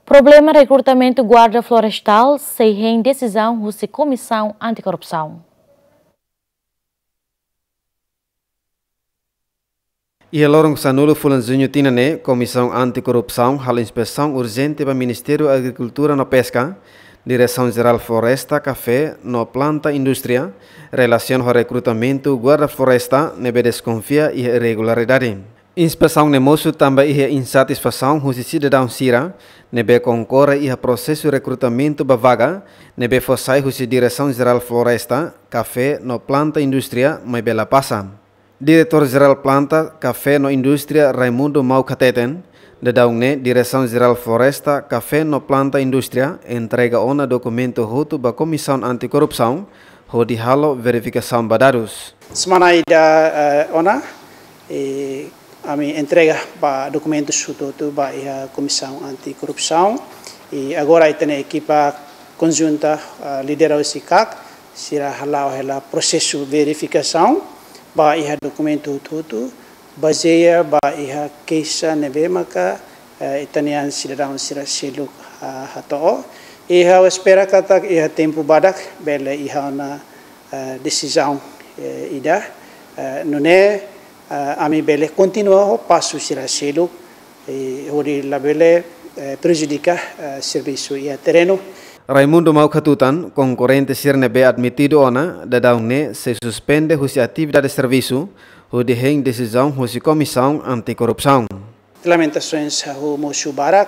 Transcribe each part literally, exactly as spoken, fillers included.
Problema rekrutamentu guarda florestál sei hein desizaun husi Komisaun Antikorrupsaun. Iha loron sanulu fulan Juñu tinan ne'e, Komisaun Antikorrupsaun halo inspesaun urjente ba Ministériu Agrikultura no Peska, Diresaun Jerál Floresta, Kafé no Planta Indústria, relasiona ho rekrutamentu guarda floresta ne'ebé deskonfia iha irregularidade. Inspesaun ne'e mosu tanba iha insatisfasaun husi sidadaun sira ne'ebé konkorre iha prosesu rekrutamentu ba vaga ne'ebé fó sai husi Diresaun Jerál Floresta, Kafé no Planta Indústria, maibé la pasa. Diretór Jerál Planta, Kafé no Indústria, Raimundo Mauk hateten, daudaun ne'e Diresaun Jerál Floresta, Kafé no Planta Indústria entrega ona dokumentu hotu ba Komisaun Antikorrupsaun hodi halo verifikasaun ba dadus. Semana ida, eh, ona, eh, ami entrega ba dokumentus hotu-hotu ba iha Komisaun Antikorrupsaun. I agora ita-nia ekipa konjunta, eh, lidera husi KAK, sira hala'o hela prosesu verifikasaun ba iha dokumentu hotu-hotu, bazeia ba iha keixa ne'ebé maka, eh, ita-nia sidadaun sira seluk, ah, hato'o. I ha'u espera katak iha tempu badak bele iha ona, eh, desizaun, eh, ida, eh, nune'e, eh, ami bele kontinua ho pasu sira seluk, eh, hodi labele, eh, prejudika, eh, servisu iha terrenu. Raimundo Mauk hatutan, konkorrente sira ne'ebé admitidu ona daudaun ne'e sei suspende husi atividade servisu, hodi hein desizaun husi Komisaun Antikorrupsaun. Lamentasoens, ha'u mosu barak,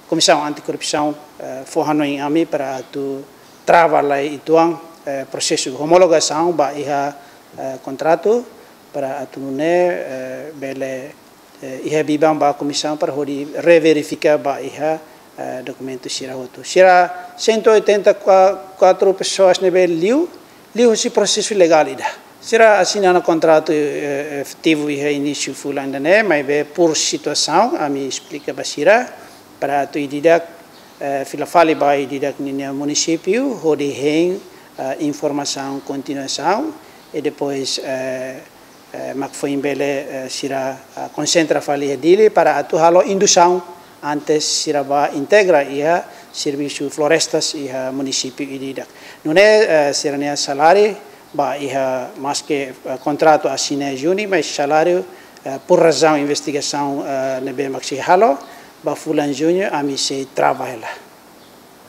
Komisaun Antikorrupsaun, eh, fó hanoin ami para atu trava lai uitoan, eh, prosesu homologasaun ba iha, eh, kontratu, para atu nune'e, eh, bele, eh, iha biban ba komisaun para hodi reverifika ba iha, eh, dokumentu sira hotu. Sira cento e oitenta e quatro pessoas ne'ebé liu, liu husi prosesu legál ida. Sira asina ona kontratu, eh, efetivu iha inísiu fulan ida-ne'e, maibé por situasaun, ami esplika ba sira, para atu ida-idak, eh, fila fali ba ida-idak ninia munisípiu, hodi hein, eh, informasaun kontinuasaun, i depois, eh, eh, mak foin bele, eh, sira, ah, konsentra fali iha Dili para atu halo indusaun antes sira bá integra iha servisu florestas iha munisípiu ida-idak. Nune'e, eh, sira-nia saláriu ba iha maske, eh, kontratu asina iha Juni, mas saláriu, eh, por razaun investigasaun, eh, ne'ebé mak sei halo ba fulan Juñu, ami sei trava hela.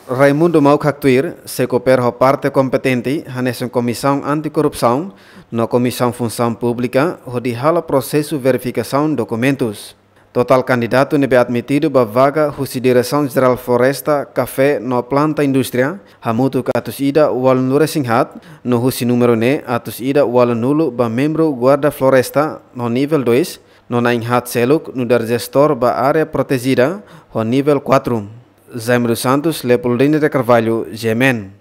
Raimundo Mauk haktuir, sei koopera ho parte kompetente, hanesan Komisaun Antikorrupsaun no Komisaun Funsaun Públika, hodi halo prosesu verifikasaun dokumentus. Totál kandidatu ne'ebé admitidu ba vaga husi Diresaun Jerál Floresta, Kafé no Planta Indústria, hamutuk atus ida ualunulu-resin-haat, no husi númeru ne'e atus ida ualunulu ba membru Guarda Floresta no nivel dois, no na'in-haat seluk nu'udar jestór ba área protejida ho nivel quatro. Jaime dos Santos, Leopoldina de Carvalho, G M N.